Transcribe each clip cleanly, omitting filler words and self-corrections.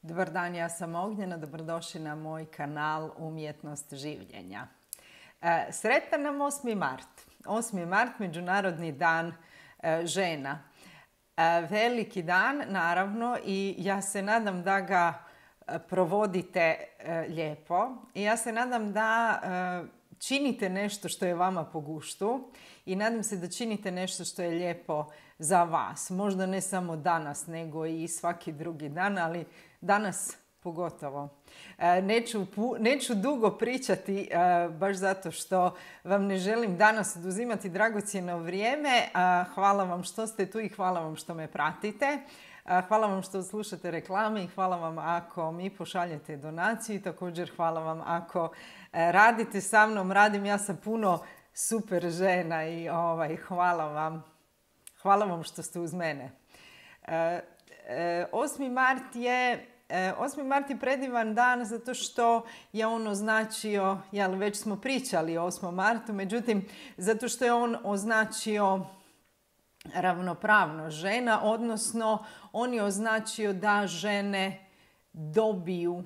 Dobar dan, ja sam Ognjena, dobrodošli na moj kanal Umjetnost življenja. Sretan nam 8. mart. 8. mart, Međunarodni dan žena. Veliki dan, naravno, i ja se nadam da ga provodite lijepo. I ja se nadam da činite nešto što je vama po guštu i nadam se da činite nešto što je lijepo za vas. Možda ne samo danas, nego i svaki drugi dan, ali danas pogotovo. Neću dugo pričati, baš zato što vam ne želim danas oduzimati dragocjeno vrijeme. Hvala vam što ste tu i hvala vam što me pratite. Hvala vam što slušate reklame i hvala vam ako mi pošaljete donaciju i također hvala vam ako radite sa mnom. Radim ja sa puno super žena i hvala vam. Hvala vam što ste uz mene. 8. mart je predivan dan zato što je on označio, već smo pričali o 8. martu, međutim, zato što je on označio ravnopravnost žena, odnosno on je označio da žene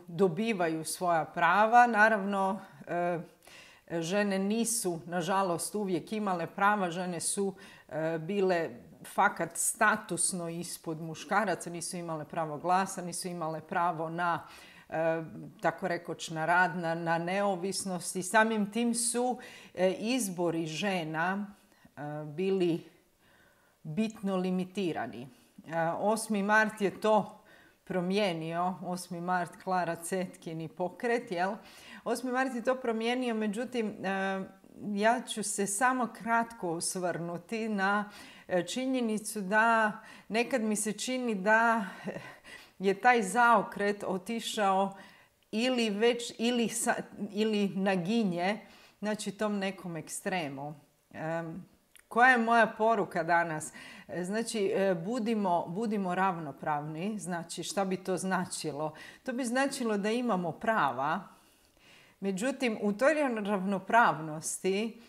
dobivaju svoja prava. Naravno, žene nisu, nažalost, uvijek imale prava. Žene su bile fakat statusno ispod muškaraca, nisu imale pravo glasa, nisu imale pravo na, tako rekoć, na rad, na neovisnost i samim tim su izbori žena bili bitno limitirani. 8. mart je to promijenio, 8. mart Klara Cetkini pokret, jel? 8. mart je to promijenio, međutim, ja ću se samo kratko osvrnuti na činjenicu da nekad mi se čini da je taj zaokret otišao ili naginje, znači tom nekom ekstremu. Koja je moja poruka danas? Znači, budimo ravnopravni. Znači, šta bi to značilo? To bi značilo da imamo prava. Međutim, u toj ravnopravnosti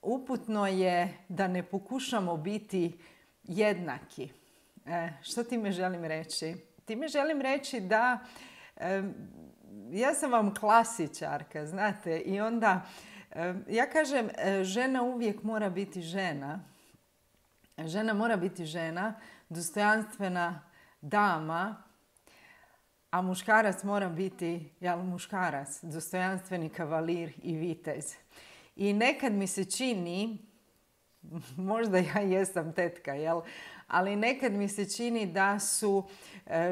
uputno je da ne pokušamo biti jednaki. Što time želim reći? Time želim reći da ja sam vam klasičarka, znate, i onda ja kažem, žena uvijek mora biti žena. Žena mora biti žena, dostojanstvena dama, a muškarac mora biti muškarac, dostojanstveni kavalir i vitez. I nekad mi se čini, možda ja jesam tetka, ali nekad mi se čini da su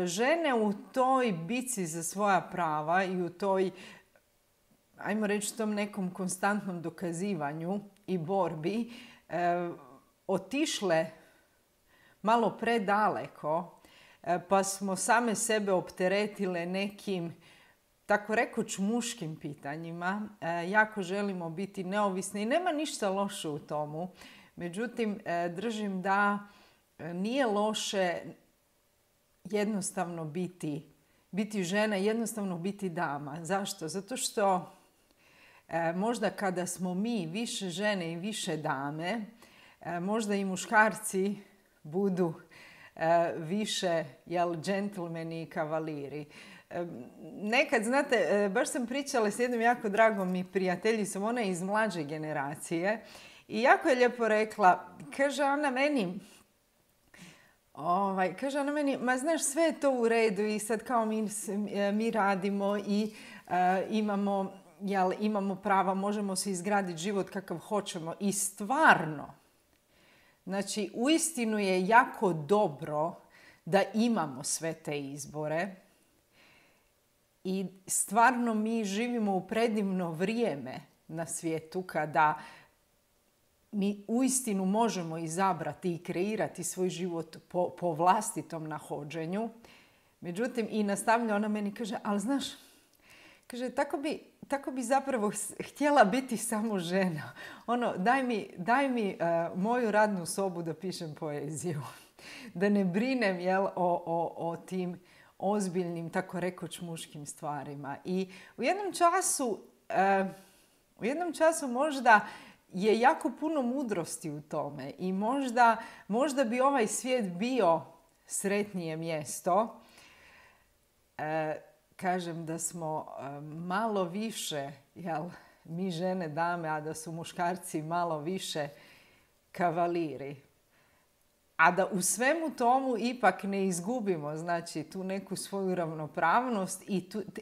žene u toj bici za svoja prava i u toj, ajmo reći, tom nekom konstantnom dokazivanju i borbi otišle malo predaleko, pa smo same sebe opteretile nekim, tako rekoć, muškim pitanjima. Jako želimo biti neovisni i nema ništa loše u tomu. Međutim, držim da nije loše jednostavno biti žena, jednostavno biti dama. Zašto? Zato što možda kada smo mi više žene i više dame, možda i muškarci budu više džentlmeni i kavaliri. Nekad, znate, baš sam pričala s jednom jako dragom mi prijateljicom, ona je iz mlađe generacije i jako je lijepo rekla, kaže ona meni, ma znaš, sve je to u redu i sad kao mi radimo i imamo prava, možemo se izgraditi život kakav hoćemo i stvarno, znači, uistinu je jako dobro da imamo sve te izbore i stvarno mi živimo u predivno vrijeme na svijetu kada mi uistinu možemo izabrati i kreirati svoj život po vlastitom nahođenju. Međutim, i nastavlja ona meni, kaže, ali znaš, kaže, tako bi zapravo htjela biti samo žena. Daj mi moju radnu sobu da pišem poeziju. Da ne brinem o tim ozbiljnim, tako rekoć, muškim stvarima. I u jednom času možda je jako puno mudrosti u tome i možda bi ovaj svijet bio sretnije mjesto kažem da smo malo više, mi žene dame, a da su muškarci malo više kavaliri. A da u svemu tomu ipak ne izgubimo, znači, tu neku svoju ravnopravnost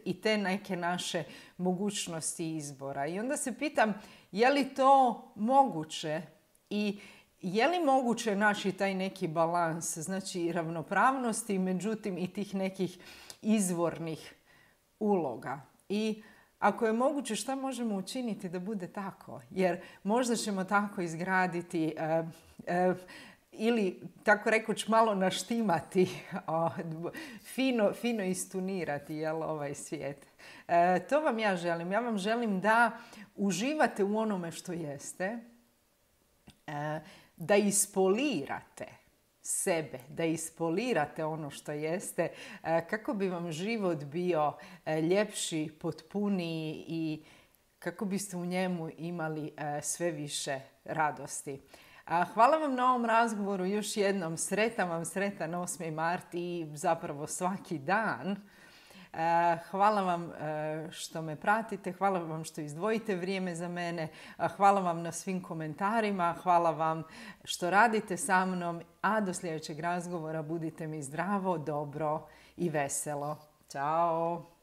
i te neke naše mogućnosti izbora. I onda se pitam, je li to moguće i je li moguće naći taj neki balans, znači ravnopravnosti, međutim i tih nekih izvornih uloga. I ako je moguće, šta možemo učiniti da bude tako? Jer možda ćemo tako izgraditi ili, tako rekuć, malo naštimati, fino istunirati ovaj svijet. To vam ja želim. Ja vam želim da uživate u onome što jeste, da ispolirate sebe, da ispolirate ono što jeste, kako bi vam život bio ljepši, potpuniji i kako biste u njemu imali sve više radosti. Hvala vam na ovom razgovoru još jednom. Sretan vam, sretan 8. mart i zapravo svaki dan. Hvala vam što me pratite, hvala vam što izdvojite vrijeme za mene, hvala vam na svim komentarima, hvala vam što radite sa mnom, a do sljedećeg razgovora budite mi zdravo, dobro i veselo. Ćao!